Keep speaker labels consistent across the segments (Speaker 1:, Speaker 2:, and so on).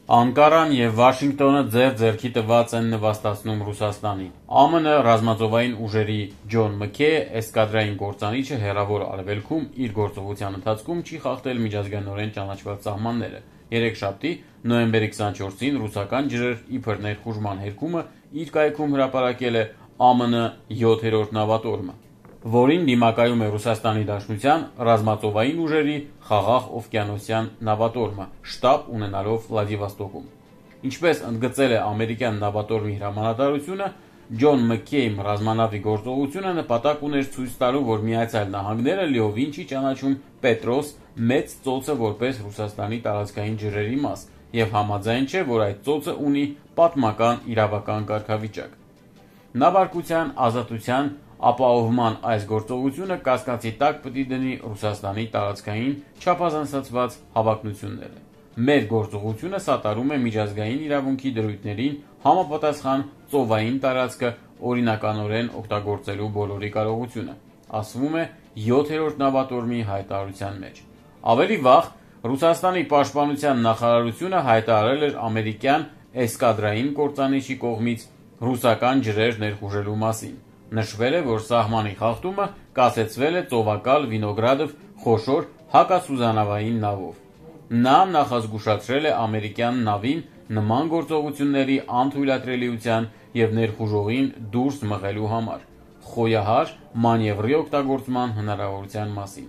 Speaker 1: Անկարան և Վաշինգտոնը ձեռքի տված են նվաստացնում Ռուսաստանին։ ԱՄՆ ռազմածովային ուժերի Ջոն Մքեյ էսկադրային կործանիչը Հեռավոր Արևելքում իր գործողության ընթացքում չի խախտել միջազգայինորեն ճանաչված սահմանները։ Երեքշաբթի, նոյեմբերի 24-ին ռուսական ջրեր իբր ներխուժման հերկումը իր կայքում հրապարակել է ԱՄՆ 7-րդ նավատորմը, որին դիմակայում է Ռուսաստանի Դաշնության ռազմածովային ուժերի Խաղաղ օվկիանոսյան նավատորմը, շտաբ ունենալով Վլադիվոստոկում։ Ինչպես ընդգծել է ամերիկյան նավատորմի հրամանատարությունը, Ջոն Մքեյ ռազմանավի գործողությունը նպատակ ուներ ցույց տալու, որ Միացյալ Նահանգները լիովին չի ճանաչում Պետրոս մեծ ծոցը որպես Ռուսաստանի տարածքային ջրերի մաս և համաձայն չէ, որ այդ ծոցը ունի պատմական իրավական կարգավիճակ։ Նավարկության ազատության ապահովման այս գործողությունը կասկածի տակ պիտի դնի Ռուսաստանի տարածքային չափազանցված հավակնությունները։ Մեր գործողությունը սատարում է միջազգային իրավունքի դրույթներին համապատասխան ծովային տարածքը օրինականորեն օգտագործելու բոլորի կարողությունը, ասվում է 7-րդ նավատորմի հայտարարության մեջ։ Ավելի վաղ Ռուսաստանի պաշտպանության նախարարությունը հայտարարել էր ամերիկյան էսկադրային կործանիչի կողմից ռուսական ջրեր ներխուժելու մասին։ Նշվել է, որ սահմանի խախտումը կասեցվել է ծովակալ Վինոգրադով խոշոր հակասուզանավային նավով։ Նա նախազգուշացրել է ամերիկյան նավին նման գործողությունների անթույլատրելիության և ներխուժողին դուրս մղելու համար խոյահար մանևրի օգտագործման հնարավորության մասին։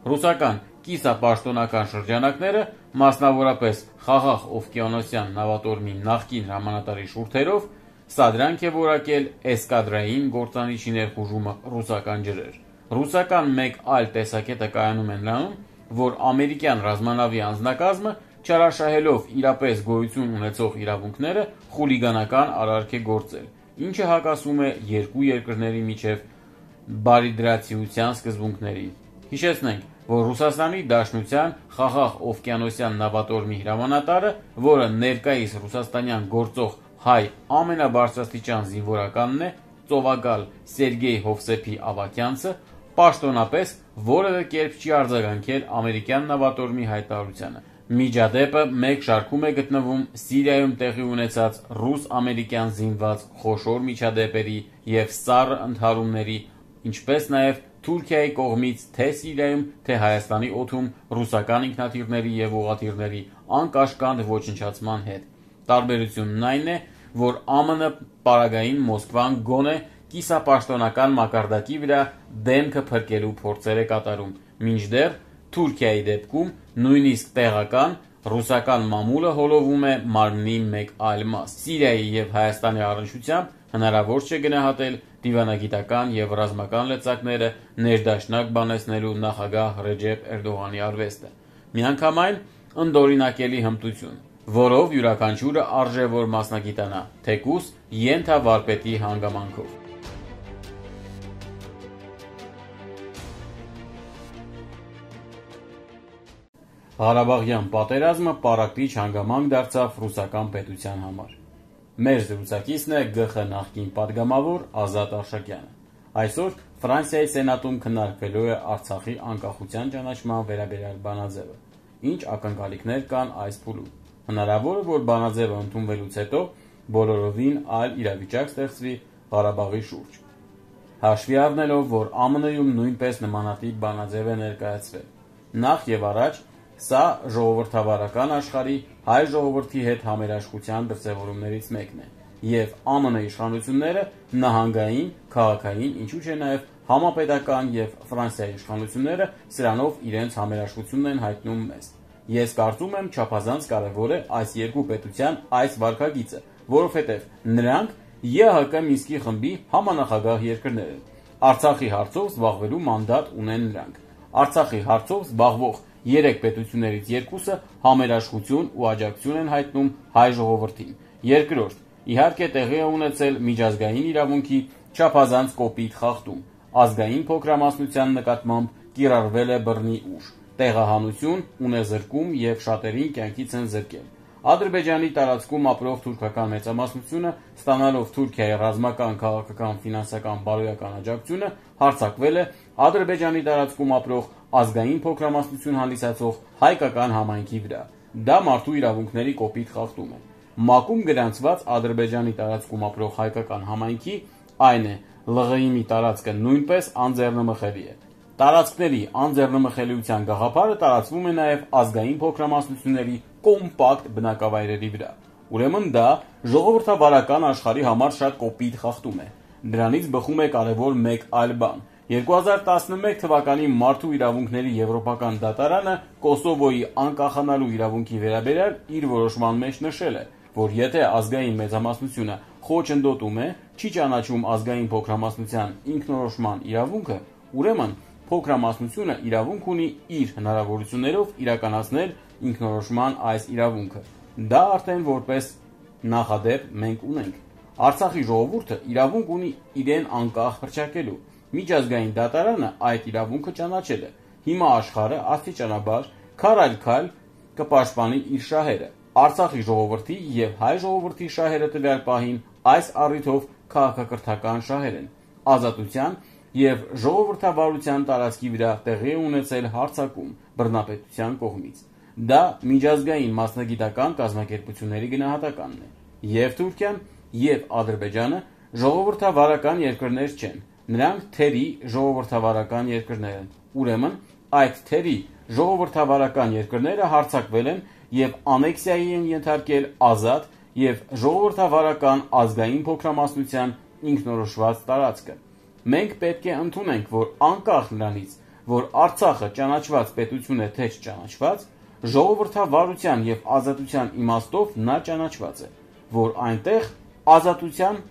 Speaker 1: Ռուսական կիսապաշտոնական շրջանակները, մասնավորապես Խաղաղ օվկիանոսյան նավատորմի նախկին հրամանատարի շուրթերով, սադրանք է որակել էսկադրային կործանիչի ներխուժումը ռուսական ջրեր։ Ռուսական մեկ այլ տեսակետը կայանում է նրանում, որ ամերիկյան ռազմանավի անձնակազմը, չարաշահելով իրապես գոյություն ունեցող իրավունքները, խուլիգանական արարք է գործել, ինչը հակասում է երկու երկրների միջև բարիդրացիության սկզբունքներին։ Հիշեցնենք, որ Ռուսաստանի Դաշնության Խաղաղ օվկիանոսյան նավատորմի հրամանատարը, որը ներկայիս ռուսաստանյան գործող հայ ամենաբարձրաստիճան զինվորականն է, ծովակալ Սերգեյ Հովսեփի Ավակյանցը, պաշտոնապես որևէ կերպ չի արձագանքել ամերիկյան նավատորմի հայտարարությանը։ Միջադեպը մեկ շարքում է գտնվում Սիրիայում տեղի ունեցած ռուս-ամերիկյան զինված խոշոր միջադեպերի և սառը ընդհարումների, ինչպես նաև Թուրքիայի կողմից թե Սիրիայում, թե Հայաստանի օդում ռուսական ինքնաթիռների և ուղղաթիռների անկաշկանդ ոչնչացման հետ։ Տարբերությունն այն է, որ ԱՄՆ պարագային Մոսկվան գոնե կիսապաշտոնական մակարդակի վրա դեմքը փրկելու փորձեր է կատարում, մինչդեռ Թուրքիայի դեպքում նույնիսկ տեղական ռուսական մամուլը հոլովում է մարմնի մեկ այլ մաս։ Սիրիայի և Հայաստանի առնչությամբ հնարավոր չէ գնահատել դիվանագիտական և ռազմական լծակները ներդաշնակ բանեցնելու նախագահ Ռեջեփ Էրդողանի արվեստը։ Միանգամայն ընդօրինակելի հմտություն, որով յուրաքանչյուրը արժե որ մասնագիտանա, թեկուզ ենթավարպետի հանգամանքով։ Ղարաբաղյան պատերազմը պառակտիչ հանգամանք դարձավ ռուսական պետության համար։ Մեր զրուցակիցն է ԳԽ նախկին պատգամավոր Ազատ Արշակյանը։ Այսօր Ֆրանսիայի Սենատում քննարկվելու է Արցախի անկախության ճանաչման վերաբերյալ բանաձևը։ Ինչ ակնկալիքներ կան այս փուլում։ Հնարավոր է, որ բանաձևը ընդունվելուց հետո բոլորովին այլ իրավիճակ ստեղծվի Ղարաբաղի շուրջ։ Հաշվի առնելով, որ ԱՄՆ-ում նույնպես նմանատիպ բանաձև է ներկայացվել։ Նախ եւ առաջ սա ժողովրդավարական աշխարհի հայ ժողովրդի հետ համերաշխության դրսևորումներից մեկն է, և ԱՄՆ իշխանությունները նահանգային, քաղաքային, ինչու չէ նաև համապետական և Ֆրանսիայի իշխանությունները սրանով իրենց համերաշխությունն են հայտնում մեզ։ Ես կարծում եմ չափազանց կարևոր է այս երկու պետության այս վարքագիծը, որովհետև նրանք ԵՀԿ Մինսկի խմբի համանախագահ երկրներ են։ Արցախի հարցով զբաղվելու մանդատ ունեն նրանք։ Արցախի հարցով զբաղվող երեք պետություններից երկուսը համերաշխություն ու աջակցություն են հայտնում հայ ժողովրդին։ Երկրորդ, իհարկե տեղի է ունեցել միջազգային իրավունքի չափազանց կոպիտ խախտում, ազգային փոքրամասնության նկատմամբ կիրառվել է բռնի ուժ, տեղահանություն, ունեզրկում և շատերին կյանքից են զրկել։ Ադրբեջանի տարածքում ապրող թուրքական մեծամասնությունը, ստանալով Թուրքիայի ռազմական, քաղաքական, ֆինանսական, բարոյական աջակցությունը, հարձակվել է Ադրբեջանի տարածքում ապրող ազգային փոքրամասնություն հանդիսացող հայկական համայնքի վրա։ Դա մարդու իրավունքների կոպիտ խախտում է։ ՄԱԿ-ում գրանցված Ադրբեջանի տարածքում ապրող հայկական համայնքի, այն է ԼՂԻՄ-ի տարածքը նույնպես անձեռնմխելի է։ Տարածքների անձեռնմխելիության գաղափարը տարածվում է նաև ազգային փոքրամասնությունների կոմպակտ բնակավայրերի վրա։ Ուրեմն դա ժողովրդավարական աշխարհի համար շատ կոպիտ խախտում է։ Դրանից բխում է կարևոր մեկ այլ բան։ 2011 թվականի Մարդու իրավունքների եվրոպական դատարանը Կոսովոյի անկախանալու իրավունքի վերաբերյալ իր որոշման մեջ նշել է, որ եթե ազգային մեծամասնությունը խոչընդոտում է, չի ճանաչում ազգային փոքրամասնության ինքնորոշման իրավունքը, ուրեմն փոքրամասնությունը իրավունք ունի իր հնարավորություններով իրականացնել ինքնորոշման այս իրավունքը։ Դա արդեն որպես նախադեպ մենք ունենք։ Արցախի ժողովուրդը իրավունք ունի իրեն անկախ հռչակելու։ Միջազգային դատարանը այդ իրավունքը ճանաչել է։ Հիմա աշխարհը աստիճանաբար քայլ առ քայլ կպաշտպանի իր շահերը։ Արցախի ժողովրդի եւ հայ ժողովրդի շահերը տվյալ պահին այս առիթով քաղաքակրթական շահեր են։ Ազատության եւ ժողովրդավարության տարածքի վրա տեղի է ունեցել հարձակում բռնապետության կողմից։ Դա միջազգային մասնագիտական կազմակերպությունների գնահատականն է։ Եվ Թուրքիան, եւ Ադրբեջանը ժողովրդավարական երկրներ չեն։ Նրանք թերի ժողովրդավարական երկրներ են։ Ուրեմն այդ թերի ժողովրդավարական երկրները հարձակվել են եւ անեքսիայի են ենթարկել ազատ եւ ժողովրդավարական ազգային փոքրամասնության ինքնորոշված տարածքը։ Մենք պետք է ընդունենք, որ անկախ նրանից, որ Արցախը ճանաչված պետություն է թե չճանաչված, ժողովրդավարության եւ ազատության իմաստով նա ճանաչված է, որ այնտեղ ազատության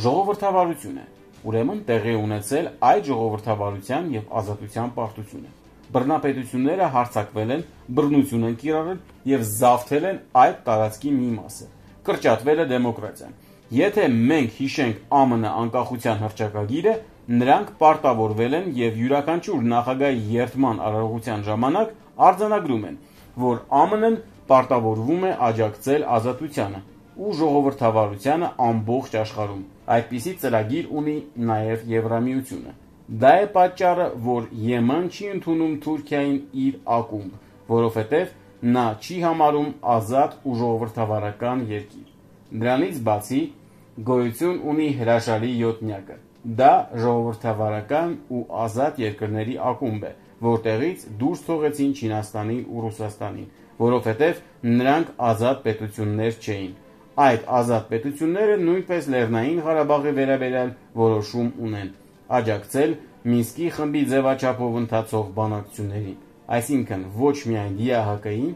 Speaker 1: ժողովրդավարություն է։ Ուրեմն տեղի ունեցել այդ ժողովրդավարության եւ ազատության պարտությունը։ Բռնապետությունները հարձակվել են, բռնություն են կիրառել եւ զավթել են այդ տարածքի մի մասը։ Կրճատվել է դեմոկրատիան։ Եթե մենք հիշենք ԱՄՆ անկախության հռչակագիրը, նրանք պարտավորվել են եւ յուրաքանչյուր նախագահի երդման արարողության ժամանակ արձանագրում են, որ ԱՄՆ-ն պարտավորվում է աջակցել ազատությանը ու ժողովրդավարությանը ամբողջ աշխարհում։ Այդպիսի ծրագիր ունի նաև Եվրամիությունը։ Դա է պատճառը, որ ԵՄ-ն չի ընդունում Թուրքիային իր ակումբ, որովհետև նա չի համարում ազատ ու ժողովրդավարական երկիր։ Դրանից բացի գոյություն ունի հրաշալի յոթնյակը։ Դա ժողովրդավարական ու ազատ երկրների ակումբ է, որտեղից դուրս թողեցին Չինաստանին ու Ռուսաստանին, որովհետև նրանք ազատ պետություններ չէին։ Այդ ազատ պետությունները նույնպես Լեռնային Ղարաբաղի վերաբերյալ որոշում ունեն աջակցել Մինսկի խմբի ձևաչափով ընթացող բանակցություններին, այսինքն ոչ միայն ԵԱՀԿ-ին,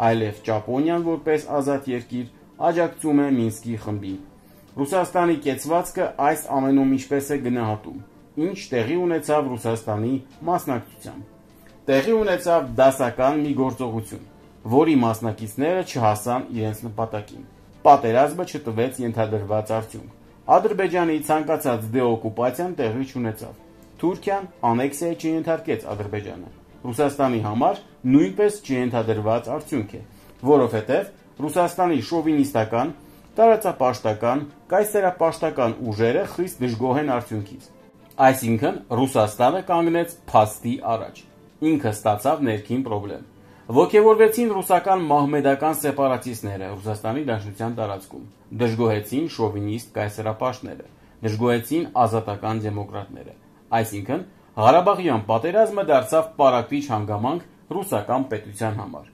Speaker 1: այլև Ճապոնիան որպես ազատ երկիր աջակցում է Մինսկի խմբին։ Ռուսաստանի կեցվածքը այս ամենում ինչպես է գնահատում, ինչ տեղի ունեցավ Ռուսաստանի մասնակցությամբ։ Տեղի ունեցավ դասական մի գործողություն, որի մասնակիցները չհասան իրենց նպատակին։ Պատերազմը չտվեց ենթադրված արդյունք։ Ադրբեջանի ցանկացած դեօկուպացիան տեղի չունեցավ։ Թուրքիան անեքսիայի չենթարկեց Ադրբեջանը։ Ռուսաստանի համար նույնպես չենթադրված արդյունք է, որովհետև Ռուսաստանի շովինիստական, տարածապաշտական, կայսերապաշտական ուժերը խիստ դժգոհ են արդյունքից։ Այսինքն Ռուսաստանը կանգնեց փաստի առաջ։ Ինքը ստացավ ներքին պրոբլեմ։ Ոգևորվեցին ռուսական մահմեդական սեպարատիստները Ռուսաստանի Դաշնության տարածքում, դժգոհեցին շովինիստ կայսերապաշտները, դժգոհեցին ազատական դեմոկրատները։ Այսինքն Ղարաբաղյան պատերազմը դարձավ պարակտիչ հանգամանք ռուսական պետության համար։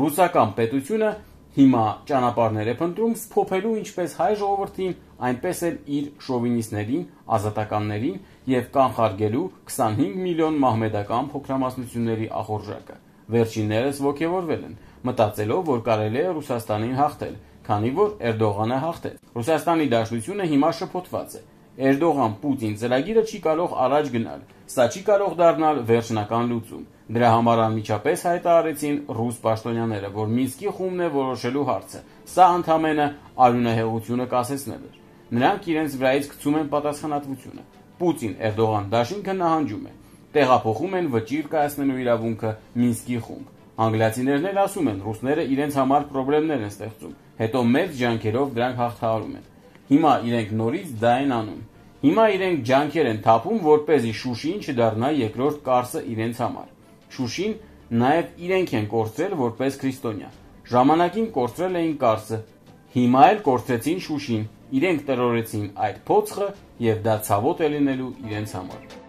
Speaker 1: Ռուսական պետությունը հիմա ճանապարհներ է փնտրում սփոփելու ինչպես հայ ժողովրդին, այնպես էլ իր շովինիստներին, ազատականներին եւ կանխարգելու 25 միլիոն մահմեդական փոքրամասնությունների ախորժակը։ Վերջիններս ոգևորվել են, մտածելով, որ կարելի է Ռուսաստանին հաղթել, քանի որ Էրդողանը հաղթեց։ Ռուսաստանի Դաշնությունը հիմա շփոթված է։ Էրդողան-Պուտին ծրագիրը չի կարող առաջ գնալ, սա չի կարող դառնալ վերջնական լուծում։ Դրա համար անմիջապես հայտարարեցին ռուս պաշտոնյաները, որ Մինսկի խումբն է որոշելու հարցը։ Սա ընդհանրապես արյունահեղությունը կասեցնել էր։ Նրանք իրենց վրայից գցում են պատասխանատվությունը։ Պուտին-Էրդողան դաշինքը նահանջում է։ Տեղափոխում են վճիռ կայացնելու իրավունքը Մինսկի խումբ։ Անգլիացիներն էլ ասում են, ռուսները իրենց համար խնդիրներ են ստեղծում, հետո մեծ ջանքերով դրանք հաղթահարում են։ Հիմա իրենք նորից դա են անում։ Հիմա իրենք ջանքեր են թափում, որպեսզի Շուշին չդառնա երկրորդ Կարսը իրենց համար։ Շուշին նաև իրենք են կորցրել որպես քրիստոնյա։ Ժամանակին կորցրել էին Կարսը, հիմա էլ կորցրեցին Շուշին, իրենք տրորեցին այդ փոცხը և դա ցավոտ է լինելու իրենց համար։